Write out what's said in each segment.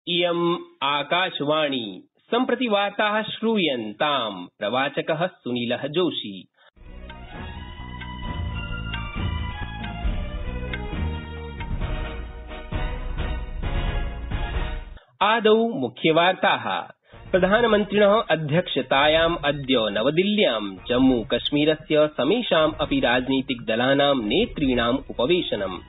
इयम् आकाशवाणी सम्प्रति वार्ताः श्रूयन्ताम् प्रवाचकः सुनीलः जोशी। आदौ मुख्यवार्ताः। प्रधानमन्त्रिणः अध्यक्षतायाम् अद्य नवदिल्ल्यां जम्मूकश्मीरस्य समेषाम् अपि राजनीतिकदलानां नेतॄणाम् उपवेशनम्।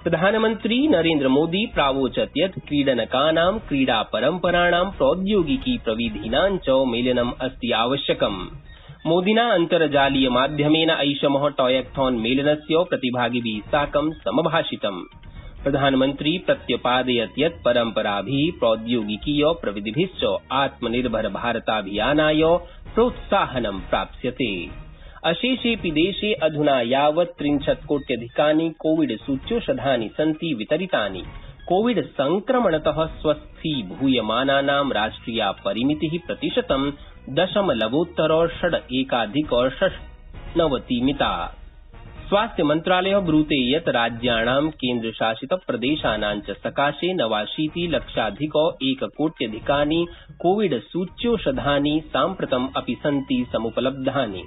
प्रधानमन्त्री नरेन्द्रमोदी प्रावोचत् यत् क्रीडनकानां क्रीडापरम्पराणां प्रौद्योगिकी प्रविधीनां च मेलनम् अस्ति आवश्यकम्। मोदिना अन्तर्जालीयमाध्यमेन ऐषमः टॉयकथॉन मेलनस्य प्रतिभागिभिः साकं समभाषितम्। प्रधानमन्त्री प्रत्यपादयत् यत् परम्पराभिः प्रौद्योगिकीय प्रविधिभिश्च आत्मनिर्भर भारताभियानाय प्रोत्साहनं प्राप्स्यते। अशेषेऽपि देशे अधुना यावत् 63 कोट्यधिकानि कोविड सूच्यौषधानि सन्ति वितरितानि। कोविड संक्रमणतः स्वस्थीभूयमानानां राष्ट्रिया परिमितिः प्रतिशतं 0.6 मिता। स्वास्थ्य मन्त्रालयः ब्रूते यत् राज्याणां केन्द्रशासितप्रदेशानां च सकाशे 89 लक्षाधिक 1 कोट्यधिकानि कोविड सूच्यौषधानि साम्प्रतम् अपि सन्ति समुपलब्धानि।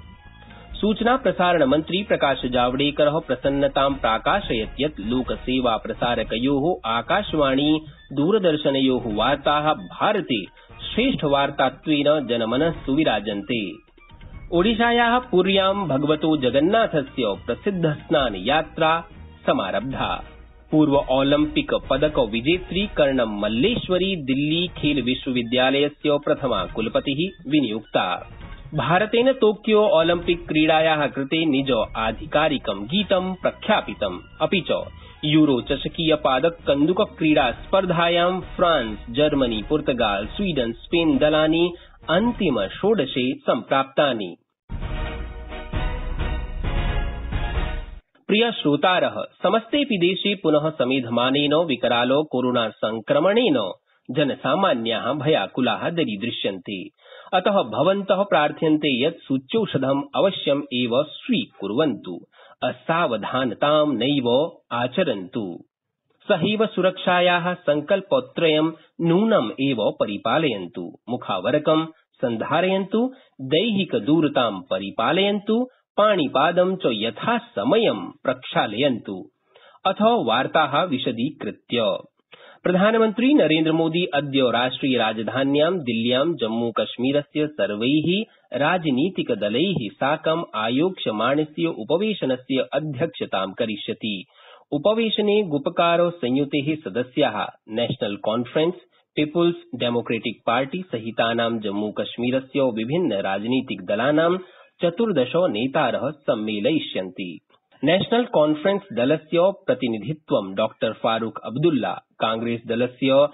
सूचना प्रसारण मन्त्री प्रकाश जावडेकरः प्रसन्नतां प्राकाशयत् यत् लोकसेवाप्रसारकयोः आकाशवाणी दूरदर्शनयोः वार्ताः भारते श्रेष्ठवार्तात्वेन जनमनःसु विराजन्ते। ओडिशायाः पुर्यां भगवतो जगन्नाथस्य प्रसिद्धस्नानयात्रा समारब्धा। पूर्व ओलम्पिक पदक विजेत्री कर्णम मल्लेश्वरी दिल्ली खेल विश्वविद्यालयस्य प्रथमा कुलपतिः विनियुक्ता। भारतेन टोक्यो ओलम्पिक क्रीडायाः कृते निज आधिकारिकं गीतं प्रख्यापितम्। अपि च यूरो चषकीय पादक कन्दुक क्रीडा स्पर्धायां फ्रांस, जर्मनी, पुर्तगाल, स्वीडन, स्पेन दलानि अन्तिम षोडशे सम्प्राप्तानि। प्रिय श्रोतारः, समस्तेऽपि देशे पुनः समेधमानेन विकराल कोरोना संक्रमणेन जनसामान्याः भयाकुलाः दरीदृश्यन्ते। अतः भवन्तः प्रार्थ्यन्ते यत् सूच्यौषधम् अवश्यम् एव स्वीकुर्वन्तु, असावधानतां नैव आचरन्तु। सहैव सुरक्षायाः संकल्पत्रयं नूनम् एव परिपालयन्तु। मुखावरकं सन्धारयन्तु, दैहिकदूरतां परिपालयन्तु, पाणिपादं च यथासमयं प्रक्षालयन्तु। अथ वार्ताः विशदीकृत्य। प्रधानमन्त्री नरेन्द्रमोदी अद्य राष्ट्रियराजधान्यां दिल्ल्यां जम्मूकश्मीरस्य सर्वैः राजनीतिकदलैः साकम् आयोक्ष्यमाणस्य उपवेशनस्य अध्यक्षतां करिष्यति। उपवेशने गुपकार संयुतेः सदस्याः national conference, people's democratic party सहितानां जम्मूकश्मीरस्य विभिन्न राजनीतिकदलानां 14 नेतारः सम्मेलयिष्यन्ति। नेशनल कॉन्फ्रेंस दलस्य प्रतिनिधित्वं डॉ फारूक अब्दुल्ला, कांग्रेस दलस्य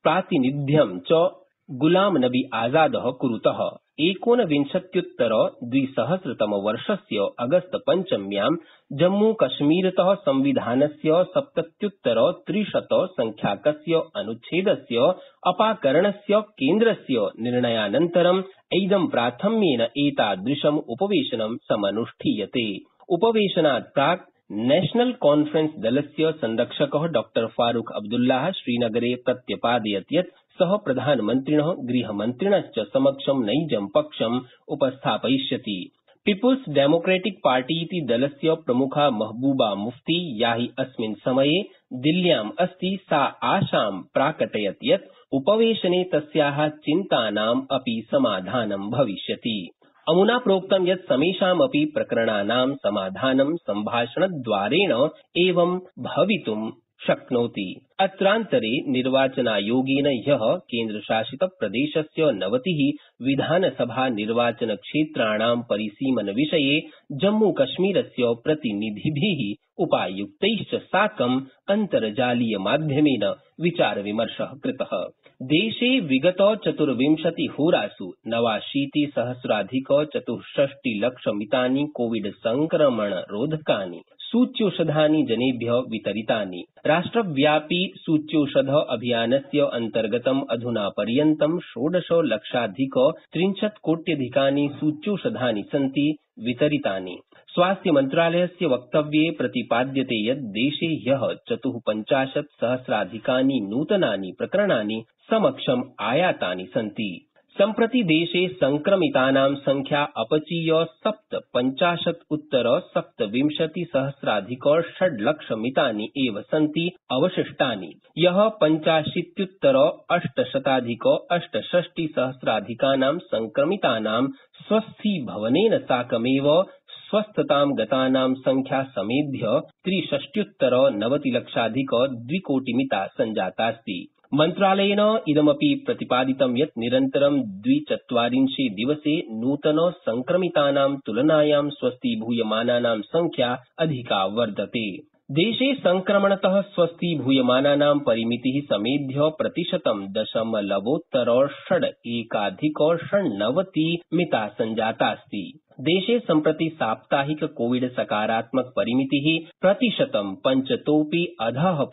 प्रातिनिध्यं च गुलाम नबी आजादः कुरुतः। 19विंशत्युत्तर-2000 अगस्त 5 जम्मूकश्मीरतः संविधानस्य 70-300 संख्याकस्य अनुच्छेदस्य अपाकरणस्य केन्द्रस्य निर्णयानन्तरम् इदं प्राथम्येन एतादृशम् उपवेशनं समनुष्ठीयते। उपवेशनात् प्राक् नेशनल कॉन्फ्रेंस दलस्य संरक्षकः डॉ फारूक अब्दुल्लाह श्रीनगरे प्रत्यपादयत् यत् सः प्रधानमन्त्रिणः गृहमन्त्रिणश्च समक्षं नैजं पक्षम् उपस्थापयिष्यति। पीपुल्स डेमोक्रेटिक पार्टी इति दलस्य प्रमुखा महबूबा मुफ्ती, या हि अस्मिन् समये दिल्ल्याम् अस्ति, सा आशां प्राकटयत् यत् उपवेशने तस्याः चिन्तानाम् अपि समाधानं भविष्यति। अमुना प्रोक्तं यत् समेषामपि प्रकरणानां समाधानं सम्भाषणद्वारेण एव भवितुं शक्नोति। अत्रान्तरे निर्वाचनायोगेन ह्यः केन्द्रशासितप्रदेशस्य 90 विधानसभा निर्वाचनक्षेत्राणां परिसीमनविषये जम्मूकश्मीरस्य प्रतिनिधिभिः उपायुक्तैश्च साकम् अन्तर्जालीयमाध्यमेन विचारविमर्शः कृतः। देशे विगत 24 होरासु 89,सहस्राधिक-64 कोविड संक्रमणरोधकानि सूच्यौषधानि जनेभ्यः वितरितानि। राष्ट्रव्यापी सूच्यौषध अभियानस्य अन्तर्गतम् अधुना पर्यन्तं 16,63,00,000 कोट्यधिकानि सूच्यौषधानि सन्ति वितरितानि। स्वास्थ्यमन्त्रालयस्य वक्तव्ये प्रतिपाद्यते यत् देशे ह्यः 54,000,000 नूतनानि प्रकरणानि समक्षम् आयातानि सन्ति। सम्प्रति देशे संक्रमितानां संख्या अपचीय 57,उत्तर-सप्तविंशतिसहस्राधिक 6,00,000 सन्ति अवशिष्टानि, यः 85,उत्तर-8,शताधिक-860,000 संक्रमितानां स्वस्थीभवनेन साकमेव स्वस्थतां गतानां संख्या समेध्य 63,90,00,000 सञ्जातास्ति। मन्त्रालयेन इदमपि प्रतिपादितं यत् निरन्तरं 240 दिवसे नूतन संक्रमितानां तुलनायां स्वस्थीभूयमानानां संख्या अधिका वर्तते। देशे संक्रमणतः स्वस्थीभूयमानानां परिमितिः समेध्य %.619 सञ्जातास्ति। देशे सम्प्रति साप्ताहिक कोविड सकारात्मक परिमितिः 5%तोऽपि अधः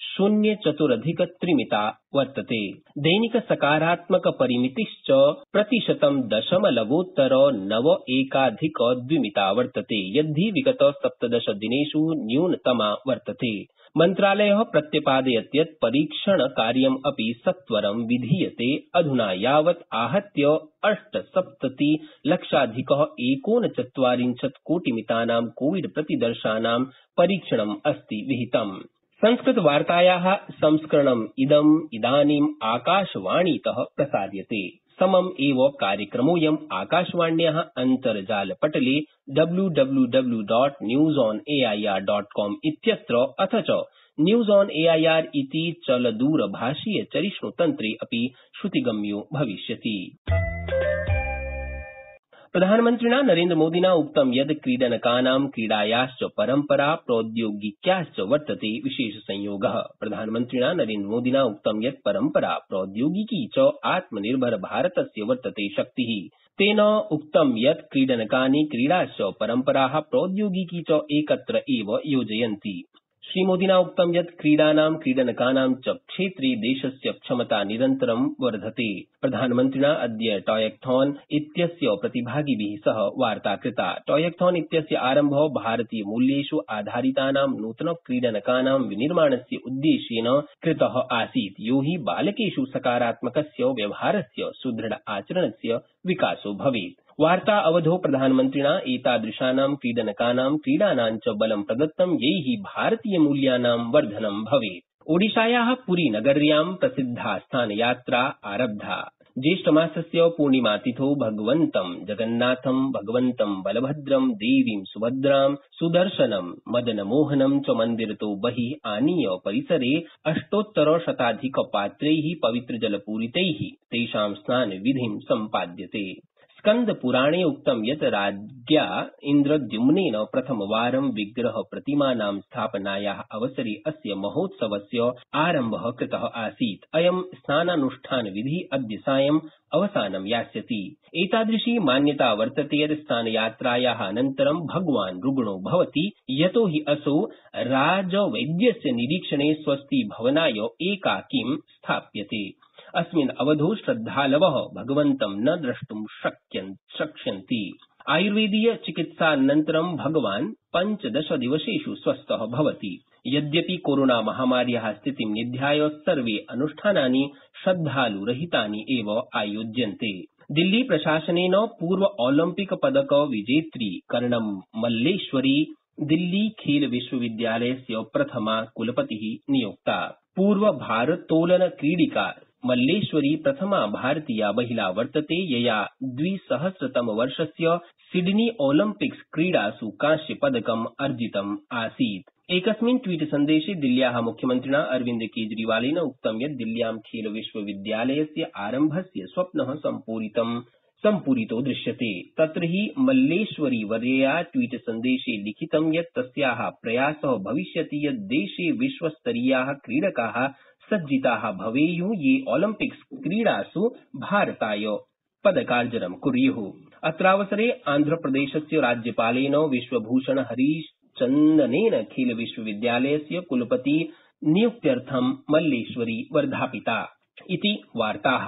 0.04 वर्तते। दैनिक सकारात्मक परिमितिश्च 0.91 वर्तते, यद्धि विगत 17 दिनेषु न्यूनतमा वर्तते। मन्त्रालयः प्रत्यपादयत् यत् परीक्षणकार्यम् अपि सत्वरं विधीयते। अधुना यावत् आहत्य 8,70,00,000-1,49 कोटिमितानां कोविड प्रतिदर्शानां परीक्षणम् अस्ति विहितम्। संस्कृतवार्तायाः संस्करणम् इदानीम् आकाशवाणीतः प्रसार्यते। समम् एव कार्यक्रमोऽयम् आकाशवाण्याः अन्तर्जालपटले www.newsonair.com इत्यत्र अथ च न्यूज ऑन एआईआर इति चलदूरभाषीय चरिष्णुतन्त्रे अपि श्रुतिगम्यो भविष्यति। प्रधानमन्त्रिणा नरेन्द्रमोदिना उक्तं यत् क्रीडनकानां क्रीडायाश्च परम्परा प्रौद्योगिक्याश्च वर्तते विशेषसंयोगः। प्रधानमन्त्रिणा नरेन्द्रमोदिना उक्तं यत् परम्परा प्रौद्योगिकी च आत्मनिर्भर भारतस्य वर्तते शक्तिः। तेन उक्तं यत् क्रीडनकानि क्रीडाश्च परम्पराः प्रौद्योगिकी च एकत्र एव योजयन्ति। श्रीमोदिना उक्तं यत् क्रीडानां क्रीडनकानां च क्षेत्रे देशस्य क्षमता निरन्तरं वर्धते। प्रधानमन्त्रिणा अद्य टॉयकथॉन इत्यस्य प्रतिभागिभिः सह वार्ता कृता। टॉयकथॉन इत्यस्य आरम्भः भारतीयमूल्येषु आधारितानां नूतनक्रीडनकानां विनिर्माणस्य उद्देश्येन कृतः आसीत्, यो हि बालकेषु सकारात्मकस्य व्यवहारस्य सुदृढ आचरणस्य विकासो भवेत्। वार्ता अवधौ प्रधानमन्त्रिणा एतादृशानां क्रीडनकानां क्रीडानां च बलं प्रदत्तं, यैः भारतीयमूल्यानां वर्धनं भवेत्। ओडिशायाः पुरीनगर्यां प्रसिद्धास्थानयात्रा आरब्धा। ज्येष्ठमासस्य पूर्णिमातिथौ भगवन्तं जगन्नाथं, भगवन्तं बलभद्रं, देवीं सुभद्रां, सुदर्शनं, मदनमोहनं च मन्दिरतो बहिः आनीय परिसरे अष्टोत्तरशताधिकपात्रैः पवित्रजलपूरितैः तेषां स्नानविधिं सम्पाद्यते। स्कन्दपुराणे उक्तं यत् राज्ञा इन्द्रद्युम्नेन प्रथमवारं विग्रहप्रतिमानां स्थापनायाः अवसरे अस्य महोत्सवस्य आरम्भः कृतः आसीत्। अयं स्नानानुष्ठानविधिः अद्य सायं अवसानं यास्यति। एतादृशी मान्यता वर्तते यत् स्नानयात्रायाः अनन्तरं भगवान् रुग्णो भवति, यतो हि असौ राजवैद्यस्य निरीक्षणे स्वस्थीभवनाय एकाकीं स्थाप्यते। अस्मिन् अवधौ श्रद्धालवः भगवन्तं न द्रष्टुं शक्ष्यन्ति। आयुर्वेदीय चिकित्सानन्तरं भगवान् 15 दिवसेषु स्वस्थः भवति। यद्यपि कोरोना महामार्याः स्थितिं निध्याय सर्वे अनुष्ठानानि श्रद्धालुरहितानि एव आयोज्यन्ते। दिल्ली प्रशासनेन पूर्व ओलम्पिक पदक विजेत्री कर्णम मल्लेश्वरी दिल्ली खेल विश्वविद्यालयस्य प्रथमा कुलपतिः नियुक्ता। पूर्व भारोत्तोलन क्रीडिका मल्लेश्वरी प्रथमा भारतीया महिला वर्तते, यया 2000 सिडनी ओलम्पिक्स क्रीडासु कांस्यपदकम् अर्जितम् आसीत्। एकस्मिन् ट्वीट सन्देशे दिल्ल्याः मुख्यमन्त्रिणा अरविन्द केजरीवालेन उक्तं यत् दिल्ल्यां खेल विश्वविद्यालयस्य आरम्भस्य स्वप्नः सम्पूरितो दृश्यते। तत्र हि मल्लेश्वरीवर्यया ट्वीट सन्देशे लिखितं यत् तस्याः प्रयासः भविष्यति यत् देशे विश्वस्तरीयाः क्रीडकाः सज्जिताः भवेयुः, ये ओलम्पिक्स क्रीडासु भारताय पदकार्जनं कुर्युः। अत्रावसरे आन्ध्रप्रदेशस्य राज्यपालेन विश्वभूषण हरिश्चन्दनेन खेल विश्वविद्यालयस्य कुलपति नियुक्त्यर्थं मल्लेश्वरी वर्धापिता इति वार्ताः।